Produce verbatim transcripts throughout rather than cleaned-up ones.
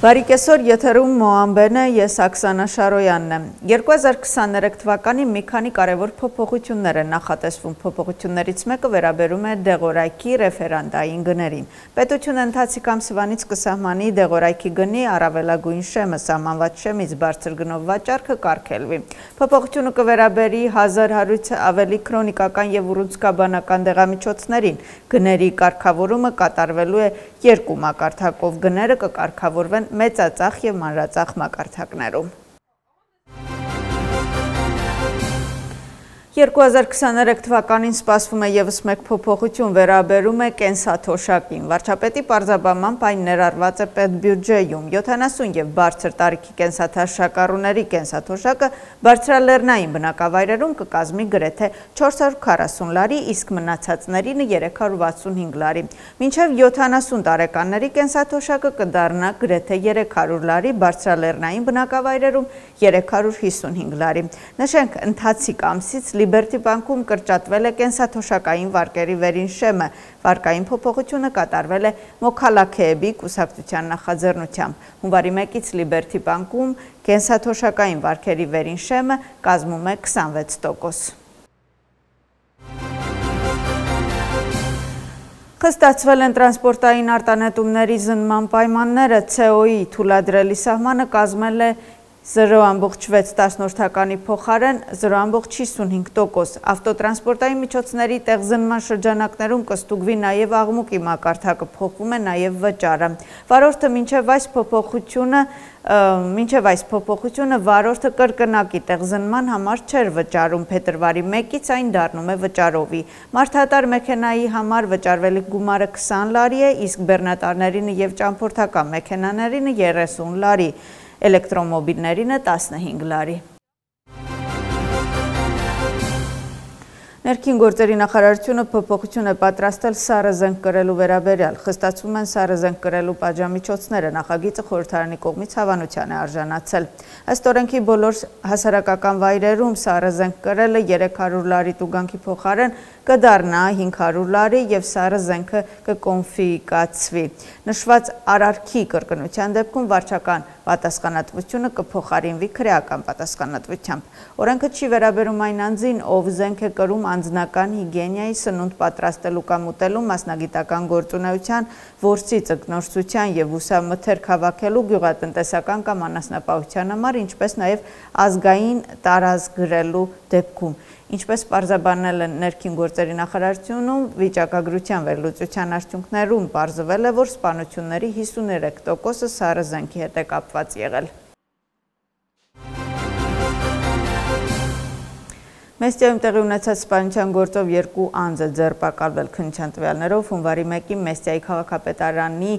Բարի կեսօր, եթերում Մոամբեն է, ես Աքսանա Շարոյանն եմ։ երկու հազար քսաներեք թվականի մի քանի կարևոր փոփոխություններ են նախատեսվում։ Փոփոխություններից մեկը վերաբերում է դեղորայքի ռեֆերանդային գներին։ Պետությունը ընթացիկ ամսվանից կսահմանի դեղորայքի գնի առավելագույն շեմը, սահմանված շեմից բարձր գնով վաճառքը կարգելվի։ Փոփոխությունը կվերաբերի հազար հարյուր ավելի քրոնիկական եւ ուռուցքաբանական դեղամիջոցներին։ Գների կարգավորումը կատարվելու է երկու մակարդակով, գները կկարգավորվեն մեծածախ և մանրածախ մակարդակներում։ երկու հազար քսաներեք թվականին սպասվում է ևս մեկ փոփոխություն, վերաբերում է կենսաթոշակին։ Վարչապետի պարզաբանմամբ այն ներառված է պետբյուջեում։ յոթանասուն և բարձր տարիքի կենսաթոշակառուների կենսաթոշակը բարձրալեռնային բնակավայրերում կկազմի գրեթե չորս հարյուր քառասուն լարի, իսկ մնացածներին երեք հարյուր վաթսունհինգ լարի։ Մինչև յոթանասուն տարեկանների կենսաթոշակը կդառնա գրեթե երեք հարյուր լարի, բարձրալեռնային բնակավայրերում երեք հարյուր հիսունհինգ լարի։ Նշենք, ընթացիկ ամսից Լիբերտի բանկում կրճատվել է կենսաթոշակային վարկերի վերին շեմը, վարկային փոփոխությունը կատարվել է Մոքալաքեեբի կուսակցության նախաձեռնությամբ։ Հունվարի մեկից Լիբերտի բանկում կենսաթոշակային վարկերի վերին շեմը կազմում է քսանվեց տոկոս։ Խստացվել են տրանսպորտային արտանետումների զննման պայմանները, ցե օ ի թույլատրելի սահմանը կազմել է զրո ամբողջ վեց տասնորդականի փոխարեն զրո ամբողջ հիսունհինգ տոկոս։ Ավտոտրանսպորտային միջոցների տեղզնման շրջանակներում կստուգվի նաև աղմուկի մակարդակը, փոխվում է նաև վճարը։ Վարորդը մինչև այս փոփոխությունը մինչև այս փոփոխությունը վարորդը կրկնակի տեղզնման համար չէր վճարում, փետրվարի մեկից այն դառնում է վճարովի։ Մարդատար մեքենայի համար վճարվելիք գումարը քսան լարի է, իսկ բեռնատարներինը և ճամփորդական մեքենաներինը երեսուն լարի, էլեկտրոմոբիլներինը տասնհինգ լարի։ Ներքին գործերի նախարարությունը փոփոխություն է պատրաստել սառը զենք կրելու վերաբերյալ։ Խստացվում են սառը զենք կրելու պատժամիջոցները, նախագիծը խորհրդարանի կողմից հավանության է արժանացել։ Ըստ օրենքի բոլոր հասարակական վայրերում սառը զենք կրելը երեք հարյուր լարի տուգանքի փոխարեն կդառնա հինգ հարյուր լարի և սառը զենքը կկոնֆիսկացվի։ Նշված արարքի կրկնության դեպքում վարչական պատասխանատվությունը կփոխարինվի քրեական պատասխանատվությամբ։ Օրենքը չի վերաբերում այն անձին, ով զենք է կրում անձնական հիգիենայի, սնունդ պատրաստելու կամ ուտելու, մասնագիտական գործունեության, որսի ձկնորսության և ուսամթերք հավաքելու, գյուղատնտեսական կամ անասնապահության համար, ինչպես նաև ազգային տարազգ գրելու դեպքում։ Ինչպես պարզաբանել են ներքին գործերի նախարարությունում, վիճակագրության վերլուծության արդյունքներում պարզվել է, որ սպանությունների հիսուներեք տոկոսը սառը զենքի հետ է կապված եղել։ Մեստիայում տեղի ունեցած սպանության գործով երկու անձ է ձերբակալվել քննության տվյալներով։ Հունվարի մեկին Մեստիայի քաղաքապետարանի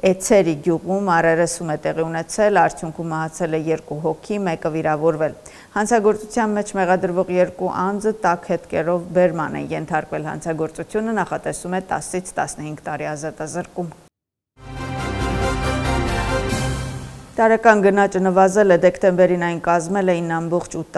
Էցերի գյուղում առերեսում է տեղի ունեցել, արդյունքում մահացել է երկու հոգի, մեկը վիրավորվել։ Հանցագործության մեջ մեղադրվող երկու անձը տաք հետքերով բերման են ենթարկվել։ Հանցագործությունը նախատեսում է տասից տասնհինգ տարի ազատազրկում։ Տարեկան գնաճը նվազել է, դեկտեմբերին այն կազմել է ինը ամբողջ ութ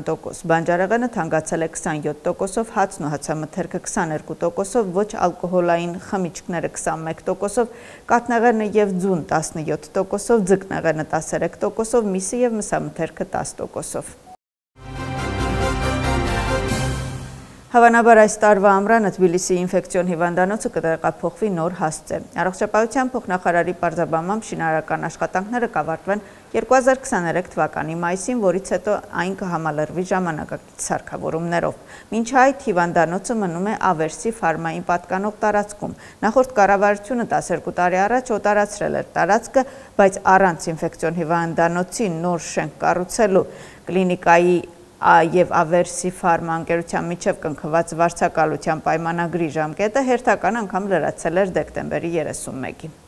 տոկոս։ Բանջարեղենը թանկացել է քսանյոթ տոկոսով, հացն ու հացամթերքը քսաներկու տոկոսով, ոչ ալկոհոլային խմիչքները քսանմեկ տոկոսով, կաթնեղենը և ձուն տասնյոթ տոկոսով, ձկնեղենը տասներեք տոկոսով, միսը և մսամթերքը տաս տոկոսով։ Հավանաբար այս տարվա ամռանը Թբիլիսի ինֆեկցիոն հիվանդանոցը կտեղափոխվի նոր հասցե։ Առողջապահության փոխնախարարի պարզաբանմամբ շինարարական աշխատանքները կավարտվեն երկու հազար քսաներեք թվականի մայիսին, որից հետո այն կհամալրվի ժամանակակից սարքավորումներով։ Մինչ այդ հիվանդանոցը մնում է Ավերսի ֆարմային պատկանող տարածքում։ Նախորդ կառավարությունը տասներկու տարի առաջ օտարացրել էր տարածքը, բայց առանց ինֆեկցիոն հիվանդանոցի նոր շենք կառուցելու կլինիկայի և Ավերսի ֆարմա ընկերության միջև կնքված վարձակալության պայմանագրի ժամկետը հերթական անգամ լրացել էր դեկտեմբերի երեսունմեկին։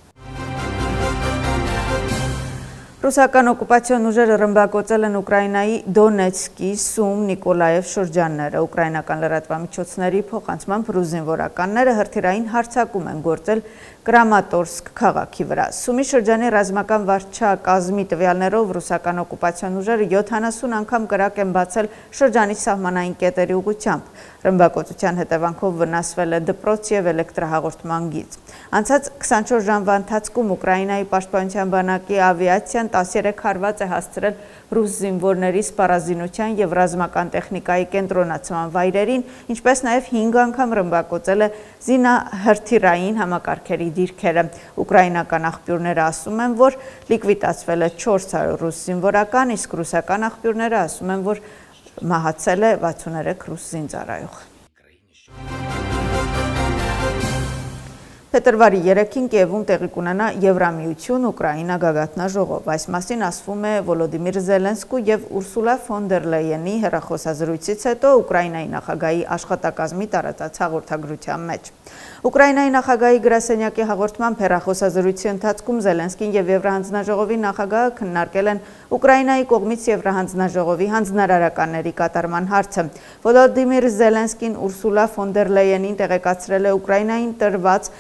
Ռուսական օկուպացիոն ուժերը ռմբակոծել են Ուկրաինայի Դոնեցկի, Սում, Նիկոլաև շրջանները։ Ուկրաինական լրատվամիջոցների փոխանցմամբ ռուս զինվորականները հրթիռային հարձակում են գործել Կրամատորսկ քաղաքի վրա։ Սումի շրջանի ռազմական վարչակազմի տվյալներով ռուսական օկուպացիոն ուժերը յոթանասուն անգամ կրակ են բացել շրջանի սահմանային կետերի ուղղությամբ։ Ռմբակոծության հետևանքով վնասվել է դպրոց և էլեկտրահաղորդման գիծ։ Անցած քսանչորս ժամվա ընթացքում Ուկրաինայի պաշտպանության բանակի ավիացիան տասներեք հարված է հասցրել ռուս զինվորների սպառազինության և ռազմական տեխնիկայի կենտրոնացման վայրերին, ինչպես նաև հինգ անգամ ռմբակոծել է զինահրթիռային համակարգերի դիրքերը։ Ուկրաինական աղբյուրները ասում են, որ լիկվիդացվել է չորս հարյուր ռուս զինվորական, իսկ ռուսական աղբյուրները ասում են, որ մահացել է վաթսուներեք ռուս զինծառայող։ Փետրվարի երեքին Կիևում տեղի կունենա Եվրամիություն-Ուկրաինա գագաթնաժողով։ Այս մասին ասվում է Վոլոդիմիր Զելենսկու և Ուրսուլա ֆոն դեր Լեյենի հեռախոսազրույցից հետո Ուկրաինայի նախագահի աշխատակազմի տարածած հաղորդագրության մեջ։ Ուկրաինայի նախագահի գրասենյակի հաղորդմամբ հեռախոսազրույցի ընթացքում Զելենսկին և Եվրահանձնաժողովի նախագահը քննարկել են Ուկրաինայի կողմից Եվրահանձնաժողովի հանձնարարականների կատարման հարցը։ Վոլոդիմիր Զելենսկին Ուրսուլա ֆոն դեր Լեյենին տեղեկացրել է Ուկրաինային տրված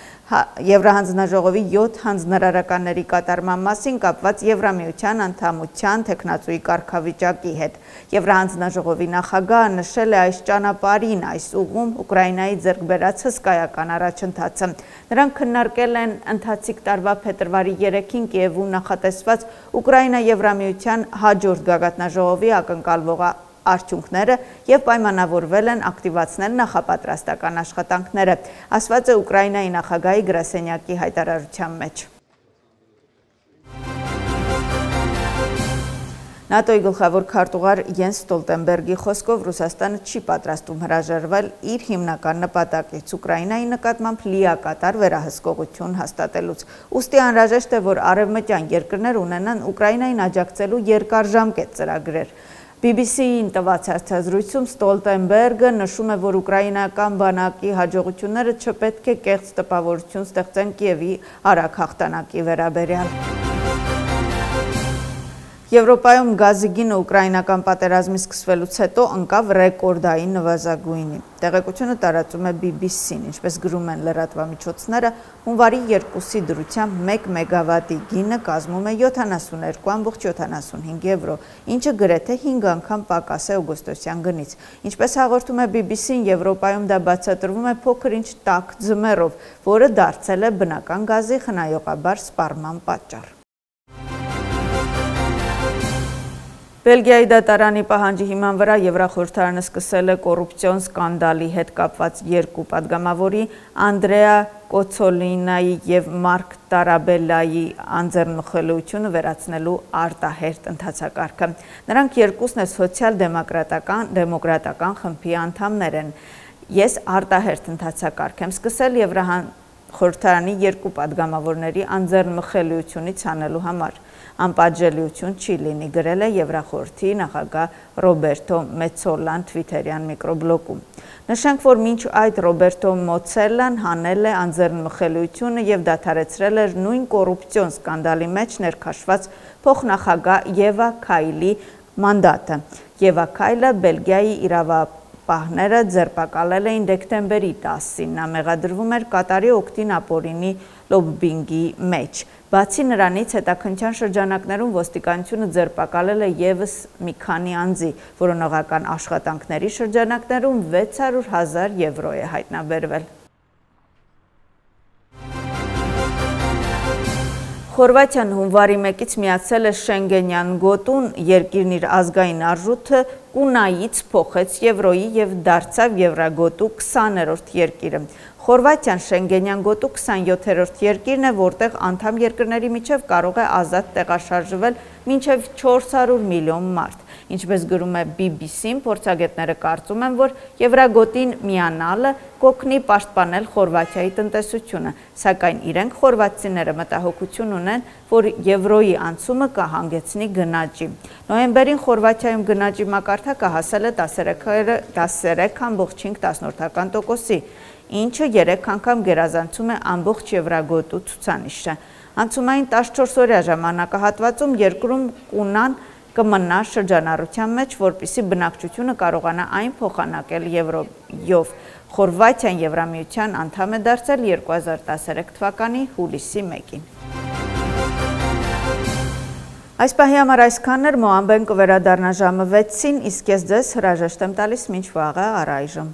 Եվրահանձնաժողովի յոթ հանձնարարականների կատարման մասին կապված Եվրամիության անդամության թեկնածուի կարգավիճակի հետ։ Եվրահանձնաժողովի նախագահը նշել է այս ճանապարհին, այս ուղում Ուկրաինայի ձեռք բերած հսկայական առաջընթացը։ Նրանք քննարկել են ընթացիկ տարվա փետրվարի երեքին Կիևում նախատեսված Ուկրաինա-Եվրամիության հաջորդ գագաթնաժողովի ակնկալվող արդյունքները և պայմանավորվել են ակտիվացնել նախապատրաստական աշխատանքները, ասված է Ուկրաինայի նախագահի գրասենյակի հայտարարության մեջ։ ՆԱՏՕ-ի գլխավոր քարտուղար Յենս Ստոլտենբերգի խոսքով Ռուսաստանը չի պատրաստվում հրաժարվել իր հիմնական նպատակից Ուկրաինայի նկատմամբ լիակատար վերահսկողություն հաստատելուց։ Ուստի անհրաժեշտ է, որ արևմտյան երկրներ ունենան Ուկրաինային աջակցելու երկարաժամկետ ծրագրեր։ բի բի սի-ին տված հարցազրույցում Ստոլտենբերգը նշում է, որ ուկրաինական բանակի հաջողությունները չպետք է կեղծ տպավորություն ստեղծեն Կիևի արագ հաղթանակի վերաբերյալ։ Եվրոպայում գազի գինը ուկրաինական պատերազմի սկսվելուց հետո ընկավ ռեկորդային նվազագույնի։ Տեղեկությունը տարածում է բի բի սի-ն, ինչպես գրում են լրատվամիջոցները, հունվարի երկուսի դրությամբ մեկ մեգավատի գինը կազմում է յոթանասուններկու կόμμα յոթանասունհինգ եվրո, ինչը գրեթե հինգ անգամ պակաս է օգոստոսյան գնից։ Ինչպես հաղորդում է բի բի սի-ն, Եվրոպայում դա բացատրվում է փոքր-ինչ տաք ձմեռով, որը դարձել է բնական գազի խնայողաբար սպառման պատճառ։ Բելգիայի դատարանի պահանջի հիման վրա Եվրախորհրդարանը սկսել է կոռուպցիոն սկանդալի հետ կապված երկու պատգամավորի Անդրեա Կոցոլինայի և Մարկ Տարաբելլայի անձեռնմխելիությունը վերացնելու արտահերթ ընթացակարգը։ Նրանք երկուսն է սոցիալ-դեմոկրատական դեմոկրատական խմբի անդամներ են։ Ես արտահերթ ընթացակարգ եմ սկսել Եվրախորհրդարանի երկու պատգամավորների անձեռնմխելիությունից հանելու համար։ Անպատժելիություն չի լինի, գրել է Եվրախորհրդի նախագահ Ռոբերտո Մեցոլան թվիթերյան միկրոբլոգում։ Նշենք, որ մինչ այդ Ռոբերտո Մեցոլան հանել է անձեռնմխելիությունը և դադարեցրել էր նույն կոռուպցիոն սկանդալի մեջ ներքաշված փոխնախագահ Եվա Քայլի մանդատը։ Եվա Քայլը Բելգիայի իրավապահները ձերբակալել էին դեկտեմբերի տասին, նա մեղադրվում էր Կատարի օգտին ապօրինի լոբբինգի մեջ։ Բացի նրանից, հետաքննության շրջանակներում ոստիկանությունը ձերբակալել է ևս մի քանի անձի, որոնողական աշխատանքների շրջանակներում վեց հարյուր հազար եվրո է հայտնաբերվել։ Խորվաթիան հունվարի մեկից միացել է Շենգենյան գոտուն, երկիրն իր ազգային արժույթը կունայից փոխեց եվրոյի և դարձավ եվրագոտու քսաներորդ երկիրը։ Խորվաթիան Շենգենյան գոտու քսանյոթերորդ երկիրն է, որտեղ անդամ երկրների միջև կարող է ազատ տեղաշարժվել մինչև չորս հարյուր միլիոն մարդ։ Ինչպես գրում է բի բի սի-ն, փորձագետները կարծում են, որ Եվրագոտին միանալը կօգնի պաշտպանել Խորվաթիայի տնտեսությունը, սակայն իրենք խորվաթցիները մտահոգություն ունեն, որ եվրոյի անցումը կհանգեցնի գնաճի։ Նոյեմբերին Խորվաթիայում գնաճի մակարդակը հասել է տասներեք կόμμα հինգ տոկոսի, ինչը երեք անգամ գերազանցում է ամբողջ Եվրագոտու ցուցանիշը։ Անցումային տասնչորս օրյա ժամանակահատվածում երկրում կունան կմնա շրջանառության մեջ, որպեսզի բնակչությունը կարողանա այն փոխանակել եվրոյով։ Խորվաթիան Եվրամիության անդամ է դարձել երկու հազար տասներեք թվականի հուլիսի մեկին։ Այս պահի համար այսքանն էր, Մոամբեն կվերադառնա ժամը վեցին, իսկ ես ձեզ հրաժեշտ եմ տալիս մինչ վաղը առայժմ։